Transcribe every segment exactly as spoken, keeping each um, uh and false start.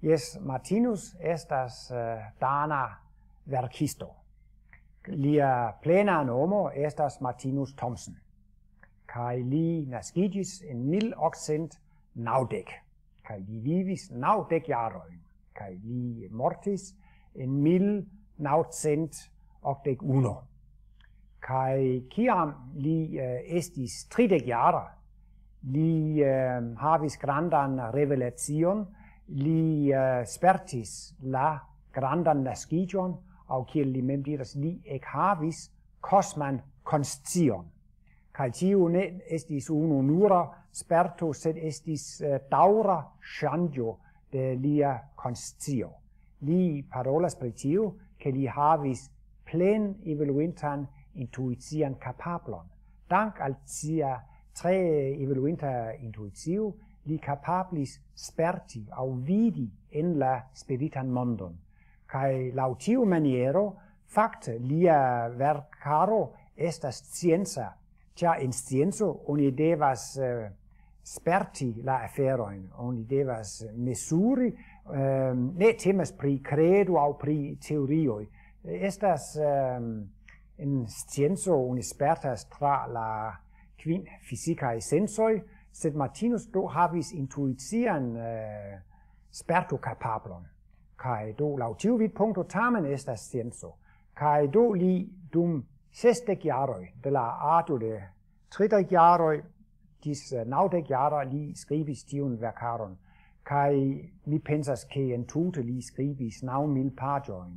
Jes, Martinus estas eh, dana verkisto. Lia plena nomo estas Martinus Thomsen. Kaj li naskiĝis en mil okcent naŭdek. Kaj li vivis naŭdek jarojn. Kaj li mortis en mil naŭcent okdek unu. Kaj kiam li eh, estis tridek jara, li eh, havis grandan revelacion, li eh, spertis la grandan naskiĝon, aŭ kiel li mem diras, li ekhavis kosman konscion. Kaj tiu ne estis unu nura sperto, sed estis eh, daŭra ŝanĝo de lia konscio. Li parolas pri tiu, ke li havis plen evoluintan intuician kapablon. Dank al sia tre evoluinta intuicio, li kapablis sperti aŭ vidi en la spiritan mondon. Kaj laŭ tiu maniero, fakte, lia verkaro estas scienca, ĉar en scienco oni devas eh, sperti la aferojn, oni devas mesuri, ehm, ne temas pri kredo aŭ pri teorioj. Estas ehm, en scienco oni spertas tra la kvin fizikaj sensoj, sed Martinus do havis intuician eh, spertokapablon. Kaj do laŭ tiu vidpunkto tamen estas scienco. Kaj do li dum sesdek jaroj, de la aĝo de tridek jaroj ĝis eh, naŭdek jara, li skribis tiun verkaron. Kaj mi pensas, ke entute li skribis naŭ mil paĝojn.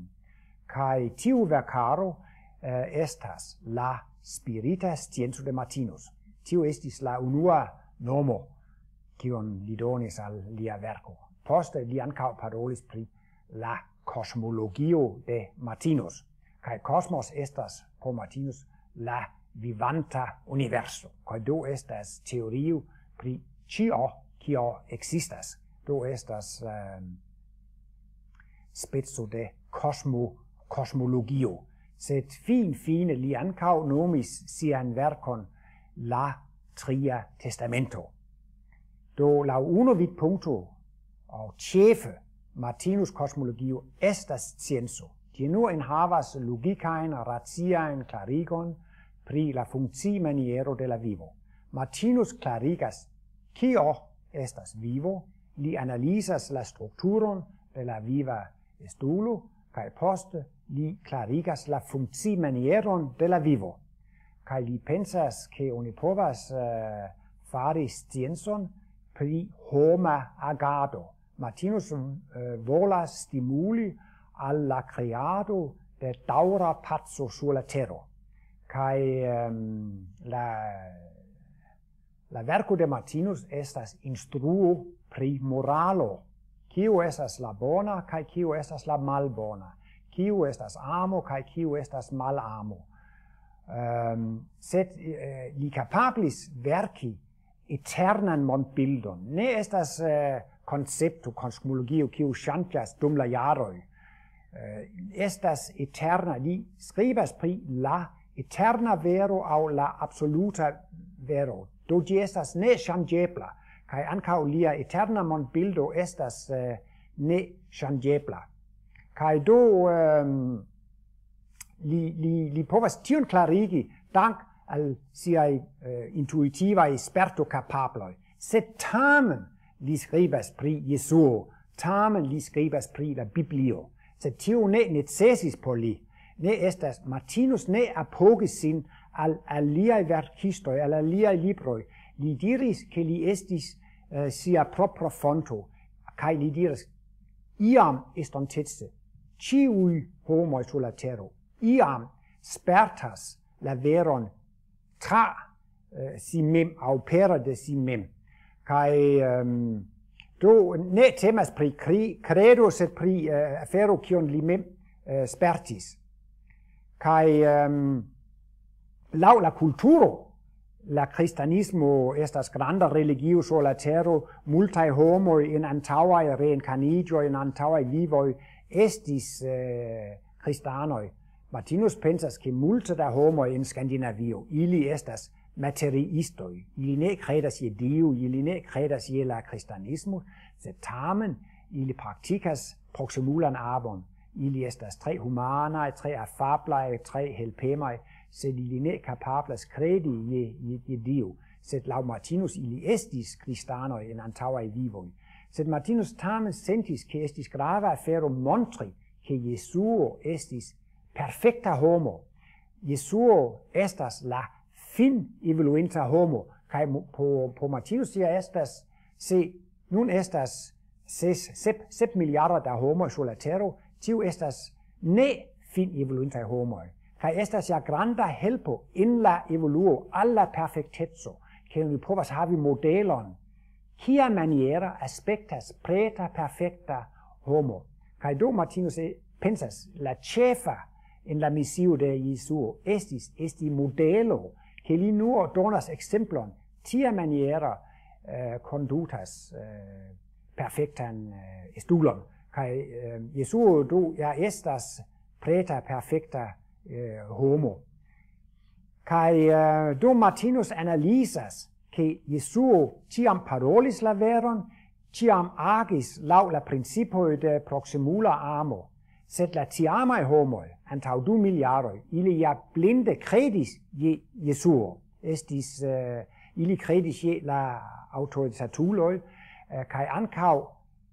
Kaj tiu verkaro eh, estas la spirita scienco de Martinus. Tiu estis la unua nomo, kion li donis al lia verko. Poste li ankaŭ parolis pri la kosmologio de Martinus. Kaj kosmos estas por Martinus la vivanta universo. Kaj do estas teorio pri ĉio, kio ekzistas. Do estas ehm, speco de kosmo, kosmologio. Sed finfine li ankaŭ nomis sian verkon la Tria Testamento. Do laŭ unu vidpunkto, aŭ ĉefe, Martinus kosmologio estas scienco. Ĝi nur enhavas logikajn, raciajn klarigon pri la funkciimaniero de la vivo. Martinus klarigas, kio estas vivo, li analizas la strukturon de la viva estulo, kaj poste li klarigas la funkciimanieron de la vivo. Kaj li pensas, ke oni povas eh, fari sciencon pri homa agado. Martinus eh, volas stimuli al la kreado de daŭra paco sur la tero. Kaj ehm, la, la verko de Martinus estas instruo pri moralo. Kiu estas la bona kaj kiu estas la malbona? Kiu estas amo kaj kiu estas malamo? Ehm, sed eh, li kapablis verki eternan mondbildon. Ne estas eh, koncepto, kosmologio, kiu ŝanĝas dum la jaroj. Eh, estas eterna, li skribas pri la eterna vero aŭ la absoluta vero. Do ĝi estas neŝanĝebla, kaj ankaŭ lia eterna mondbildo estas eh, neŝanĝebla. Kaj do ehm, li, li, li povas tion klarigi dank al siaj eh, intuitivaj spertokapabloj. Sed tamen li skribas pri Jesuo, tamen li skribas pri la Biblio. Sed tio ne necesis por li. Ne estas, Martinus ne apogis sin al aliaj verkistoj, al aliaj libroj. Li diris, ke li estis eh, sia propra fonto. Kaj li diris, iam estontece, ĉiuj homoj sur la tero, iam spertas la veron tra eh, si mem aŭ pere de si mem. Kaj ehm, do ne temas pri kri, kredo, sed pri eh, afero, kion li mem eh, spertis. Kaj ehm, laŭ la kulturo, la kristanismo estas granda religio sur la tero, multaj homoj en antaŭaj reenkarniĝoj, en antaŭaj vivoj estis eh, kristanoj. Martinus pensas, ke multe da homoj en Skandinavio, ili estas materiistoj, ili ne kredas je Dio, ili ne kredas je la kristanismo, sed tamen Ili praktikas proksimulan amon. Ili estas tre humanaj, tre afablaj, tre helpemaj, sed ili ne kapablas kredi je, je, je Dio. Sed laŭ Martinus ili estis kristanoj en antaŭaj vivoj. Sed Martinus tamen sentis, ke estis grava afero montri, ke Jesuo estis perfekta homo. Jesuo estas la fin evoluinta homo, kaj mo-, po, po Martinus ja estas, se nun estas ses, sep, sep miliardo da homoj sur la tero, tiu estas ne fin evoluintaj homoj, kaj estas ja granda helpo en la evoluo al la perfekteco, ke oni povas havi modelon, kia maniera aspektas preta perfekta homo. Kaj do Martinus e-, pensas, la ĉefa en la misio de Jesuo estis esti modelo, ke li nur donas ekzemplon, tia maniera, eh, kondutas, eh, perfektan, eh, estulon. Kaj, eh, Jesuo do ja estas preta perfekta, eh, homo. Kaj, eh, do Martinus analizas, ke Jesuo ĉiam parolis la veron, ĉiam agis laŭ la principoj de proksimula amo. Sed la tiamaj homoj, antaŭ du mil jaroj, ili ja blinde kredis je Jesuo. Estis, eh, ili kredis je la aŭtoritatuloj, eh, kaj ankaŭ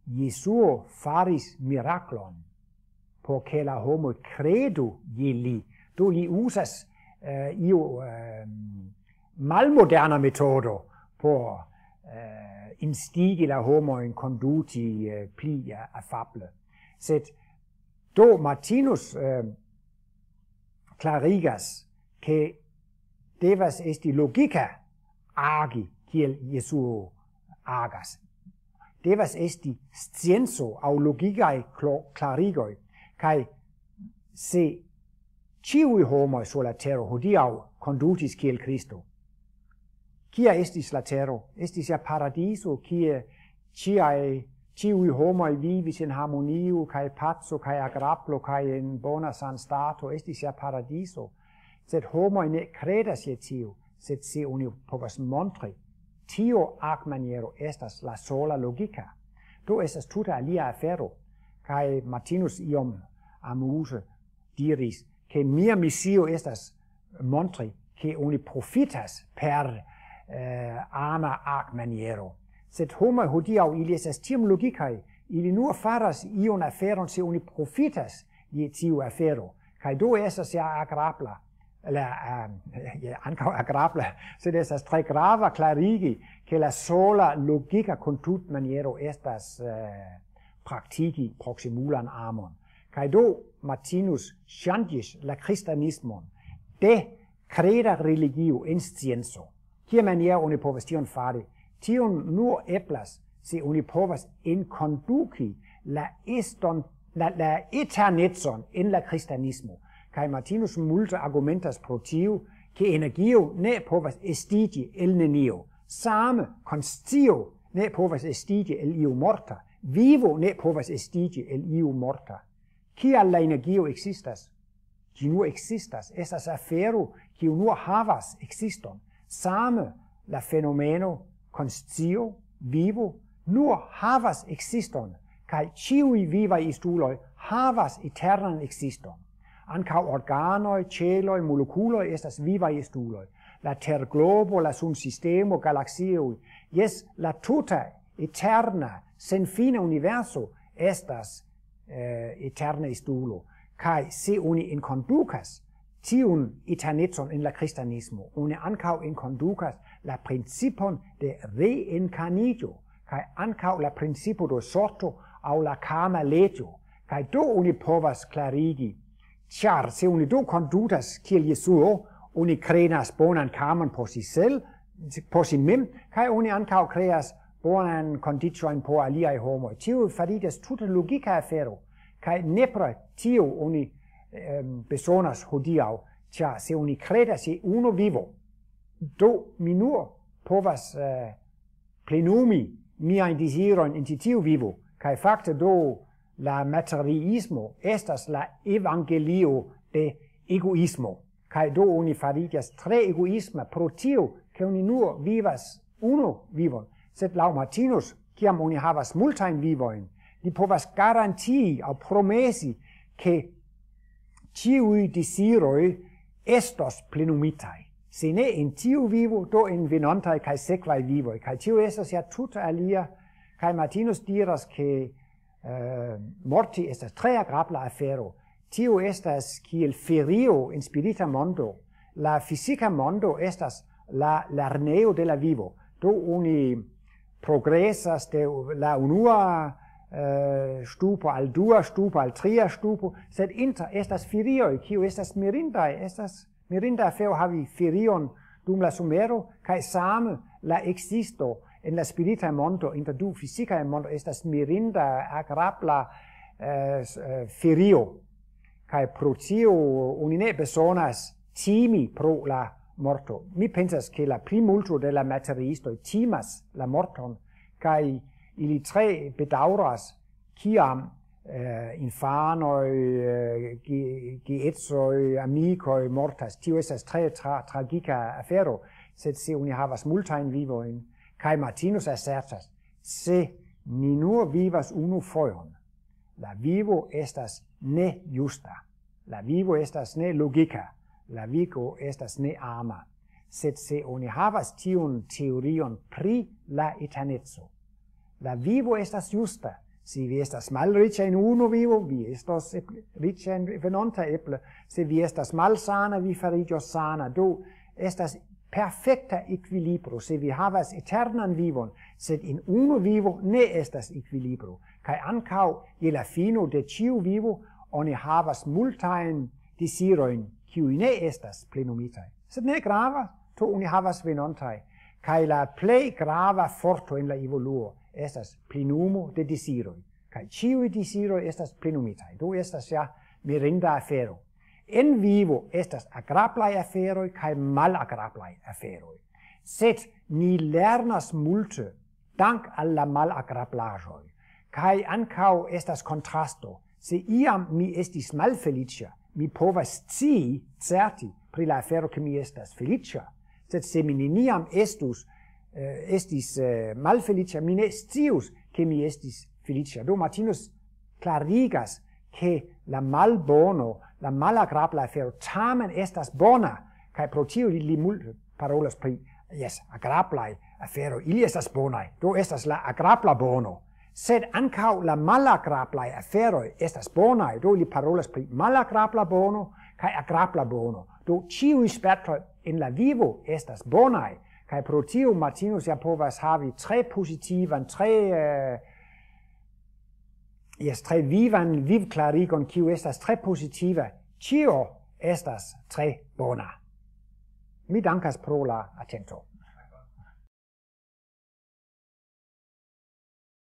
Jesuo faris miraklon, por ke la homoj kredu je li. Do li uzas, eh, iu, ehm, malmoderna metodo por, eh, instigi la homojn konduti, eh, pli, eh, afable. Sed do Martinus, ehm, klarigas, ke devas esti logika agi kiel Jesuo agas. Devas esti scienco aŭ logikaj klo-, klarigoj. Kaj se ĉiuj homoj sur la tero hodiaŭ kondutis kiel Kristo, kia estis la tero? Estis ja paradiso, kie ĉiaj, ĉiuj homoj vivis en harmonio kaj paco kaj agrablo kaj en bona sanstato. Estis ja paradiso. Sed homoj ne kredas je tio, sed se oni povas montri, tio agmaniero estas la sola logika. Do estas tute alia afero. Kaj Martinus iom amuze diris, ke mia misio estas montri, ke oni profitas per, eh, ama agmaniero. Sed homoj hodiaŭ ili estas tiom logikaj, ili nur faras iun aferon, se oni profitas je tiu afero. Kaj do estas ja agrabla, la, ehm, ja, ankaŭ agrabla, sed estas tre grava klarigi, ke la sola logika kondutmaniero estas, eh, praktiki proksimulan amon. Kaj do Martinus ŝanĝis la kristanismon de kreda religio en scienco. Kia maniero oni povas tion fari? Tion nur eblas, se oni povas enkonduki la eston, la, la eternecon en la kristanismo. Kaj Martinus multe argumentas pro tio, ke energio ne povas estiĝi el nenio. Same konscio ne povas estiĝi el iu morta. Vivo ne povas estiĝi el iu morta. Kial la energio ekzistas? Ĝi nur ekzistas, estas afero, kiu nur havas ekziston. Same la fenomeno, konscio, vivo, nur havas ekziston, kaj ĉiuj vivaj estuloj havas eternan ekziston. Ankaŭ organoj, ĉeloj, molekuloj estas vivaj estuloj. La terglobo, la sunsistemo, galaksioj, jes, la tuta eterna, senfina universo estas, eh, eterna estulo. Kaj se oni enkondukas tiun eternecon en la kristanismo, oni ankaŭ enkondukas la principon de reenkarniĝo, kaj ankaŭ la principo de sorto aŭ la karma leĝo. Kaj do oni povas klarigi, ĉar se oni do kondutas kiel Jesuo, oni kreas bonan karmon por si sel, por si mem, kaj oni ankaŭ kreas bonan kondiĉojn por aliaj homoj. Tio fariĝas tute logika afero, kaj nepre tio oni, em, bezonas hodiaŭ, ĉar se oni kredas je unu vivo, do mi nur povas, eh, plenumi miajn dezirojn en ĉi tiu vivo, kaj fakte do la materiismo estas la evangelio de egoismo, kaj do oni fariĝas tre egoisma pro tio, ke oni nur vivas unu vivon. Sed laŭ Martinus, kiam oni havas multajn vivojn, Li povas garantii aŭ promesi, ke ĉiuj deziroj estos plenumitaj. Se ne en tiu vivo, do en venontaj kaj sekvaj vivoj. Kaj tio estas ja tute alia. Kaj Martinus diras, ke eh, morti estas tre agrabla afero. Tio estas kiel ferio en spirita mondo. La fizika mondo estas la lernejo de la vivo. Do oni progresas de la unua eh, ŝtupo al dua ŝtupo, al tria ŝtupo, sed inter estas ferioj, kiu estas mirindaj, estas mirinda afero havi ferion dum la somero, kaj same la ekzisto en la spirita mondo inter du fizikaj mondo estas mirinda, agrabla eh, s- eh, ferio. Kaj pro tio oni ne bezonas timi pro la morto. Mi pensas, ke la plimulto de la materiistoj timas la morton, kaj ili tre bedaŭras, kiam eh, infanoj, eh, ge- geedzoj, amikoj mortas. Tio estas tre tra, tragika afero, sed se oni havas multajn vivojn, kaj Martinus asertas, se ni nur vivas unu fojon, la vivo estas ne justa, la vivo estas ne logika, la vivo estas ne ama. Sed se oni havas tiun teorion pri la eterneco, la vivo estas justa. Se vi estas malriĉa en unu vivo, vi estos ep- riĉa en venonta eble. Se vi estas malsana, vi fariĝos sana. Do estas perfekta ekvilibro, se vi havas eternan vivon, sed en unu vivo ne estas ekvilibro. Kaj ankaŭ je la fino de ĉiu vivo oni havas multajn dezirojn, kiuj ne estas plenumitaj. Sed ne grava, to oni havas venontaj. Kaj la plej grava forto en la evoluo estas plenumo de deziroj. Kaj ĉiuj deziroj estas plenumitaj. Do estas ja mirinda afero. En vivo estas agrablaj aferoj kaj malagrablaj aferoj. Sed ni lernas multe dank al la malagrablaĵoj. Kaj ankaŭ estas kontrasto. Se iam mi estis malfeliĉa, mi povas scii certe pri la afero, ke mi estas feliĉa. Sed se mi neniam estus, eh, estis eh, malfeliĉa, mi ne scius, ke mi estis feliĉa. Do Martinus klarigas, ke la malbono, la malagrabla afero tamen estas bona, kaj pro tio li, li multe parolas pri, jes, agrablaj aferoj, ili estas bonaj, do estas la agrabla bono. Sed ankaŭ la malagrablaj aferoj estas bonaj, do li parolas pri malagrabla bono kaj agrabla bono. Do ĉiuj spertoj en la vivo estas bonaj, kaj pro tio Martinus ja povas havi tre pozitivan, tre eh, jes, tre vivan vivklarigon, kiu estas tre pozitiva. Ĉio estas tre bona. Mi dankas pro la atento.